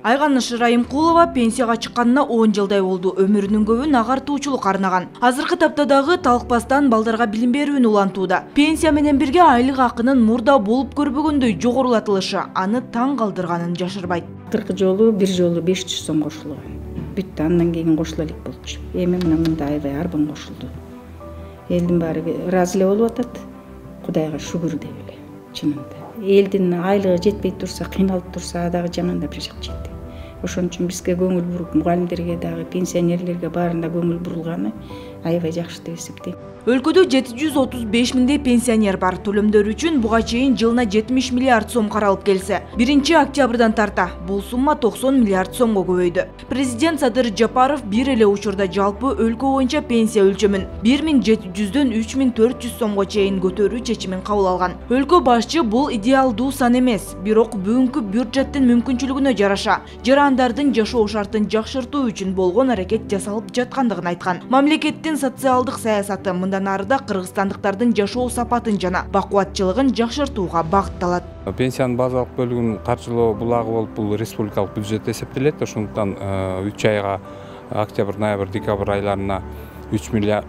Айганыш Райымкулова пенсияга чыкканына 10 жылдай болду. Өмүрүнүн көбүн агартуучулук арнаган. Азыркы тапта дагы талкпастан балдарга билим берүүнү улантууда. Пенсия менен бирге айлык акынын мурда болуп көрбөгөндөй жогорулатылышы аны таң калтырганын жашырбайт. Акыркы жолу бир жолу 500 сом кошулган. Бүттү, андан кийин кошула элек болчу. Эми мында аябай арбан кошулду. Элдин баары ыраазы эле болуп атат. Кудайга шүгүр деп эле, чынында. Элдин айлыгы жетпей турса, кыйналып турса, дагы жамандап жашап жетти. Ошон үчүн бизге көңүл буруп, мугалимдерге дагы, пенсионерлерге баарына көңүл бурулганы аябай жакшы деп эсептейм. Өлкөдө 735 миңдей пенсионер бар. Төлөмдөр үчүн буга чейин жылына 70 миллиард сом каралып келсе, 1-октябрдан тарта бул сумма 90 миллиард сомго көбөйдү. Президент Садыр Жапаров бир эле учурда жалпы өлкө боюнча пенсия өлчөмүн 1700дөн 3400 сомго чейин көтөрүү чечимин кабыл алган. Өлкө башчы бул идеалдуу сан эмес, бирок бүгүнкү бюджеттин мүмкүнчүлүгүнө жараша жарандардын жашоо шартын жакшыртуу үчүн болгон аракет жасалып жаткандыгын айткан. Мамлекеттин социалдык саясаты мындан арыда кыргызстандыктардын жашоо сапатын жана бакубатчылыгын жакшыртууга багытталат. Пенсиянын базалык бөлүгүн каржылоо булагы болуп бул республикалык бюджет эсептелет. Ошондуктан 3 айга октябрь, ноябрь, декабрь айларына 3 миллиард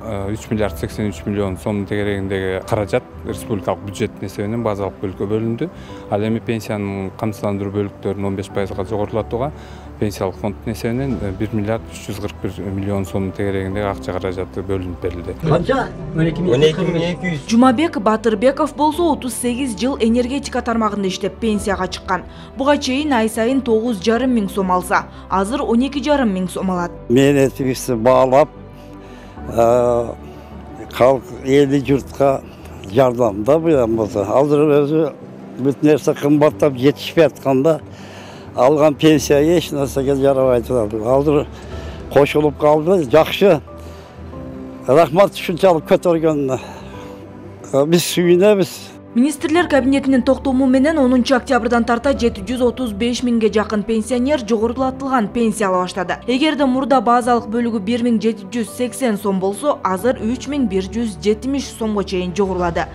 83 миллион сом тегерегиндеги каражат республикалык бюджеттин эсебинен базалык бөлүккө бөлүндү. Ал эми пенсиянын камсыздандыруу бөлүктөрүн 15%га жогорулатууга пенсиялык фонддун эсебинен 1 миллиард 341 миллион сом тегерегиндеги акча каражаты бөлүнүп берилди. Канча? 12200. Жумабек Батырбеков болсо 38 жыл энергетика тармагында иштеп пенсияга чыккан. Буга чейин ай сайын 9,5 миң сом алса, азыр 12,5 миң сом алат. Менетибизди баалап, халк эли журтка жардамда болсо. Азыр өзү бүт нерсе кымбаттап жетишпей атканда алган пенсия эч нерсеге жарабай турат. Азыр кошулуп калды, жакшы. Рахмат ушунчалык көтөргөнүнө. Биз сүйүнөбүз. Министрлер кабинетинин токтому менен 10 октябрдан тарта 735 миңге жакын пенсионер жогорулатылган пенсия ала баштады. Эгерде мурда базалык бөлүгү 1780 сом болсо, азыр 3170 сомго чейин жогорулады.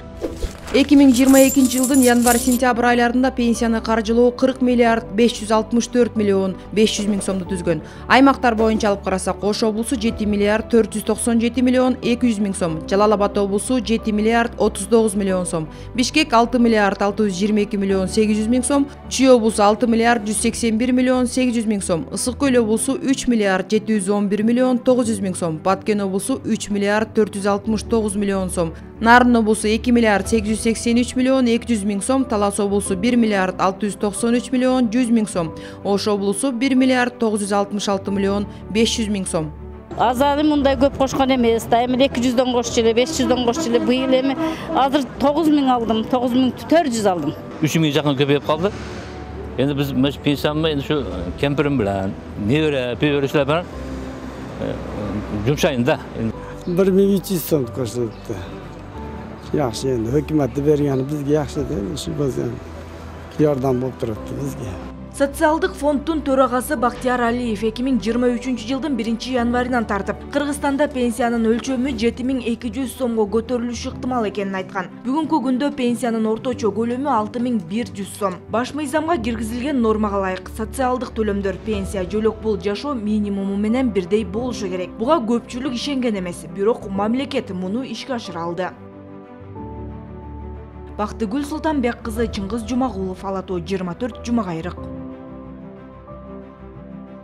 2022 жылдын январь-сентябрь айларында пенсияны каржылоо 40 миллиард 564 миллион 500 миң сомду түзгөн. Аймактар боюнча алып карасак, Ош облусу 7 миллиард 497 миллион 200 миң сом, Жалал Абад облусу 7 миллиард 39 миллион сом, Бишкек 6 миллиард 622 миллион 800 миң сом, Чүй облусу 6 миллиард 181 миллион 800 миң сом, Ысык Көл облусу 3 миллиард 711 миллион 900 миң сом, Баткен облусу 3 миллиард 469 миллион сом, Нарын облусу 2 миллиард 883 миллион 200 миң сом, Талас облусу 1 миллиард 693 миллион 100 миң сом, Ош облусу 1 миллиард 966 миллион 500 миң сом. Азары мындай көп кошкон эмес, да эми 200дөн кошчу эле, 500дөн кошчу эле. Быйыл эми азыр 9 миң алдым, 9400 алдым. 3 миң жакын көбөйүп калды. Эndi биз пенсиямды эndi şu кемпирим менен, небере, пеберешилер менен жумшайын да. 1300 сом көрсөттү. Yaxşı endi hökümetde bergeni bizge yaxşı da, şu bazen yordam болуп турат bizge. Социалдык фонддун төрагасы Бактияр Алиев 2023 жылдын 1 январынан тартып, Кыргызстанда пенсиянын өлчөмү 7200 сомго көтөрүлүшү ыктымал экенин айткан. Бүгүнкү күндө пенсиянын орточо көлөмү 6100 сом. Баш мыйзамга киргизилген нормага ылайык социалдык төлөмдөр пенсия жөлөк бул жашоо минимуму менен бирдей болушу керек. Буга көпчүлүк ишенген эмес, бирок мамлекет муну ишке ашыра алды. Бактыгүл Султанбек кызы, Чыңгыз Жумагулов, Ала Тоо 24, Жумагайрык.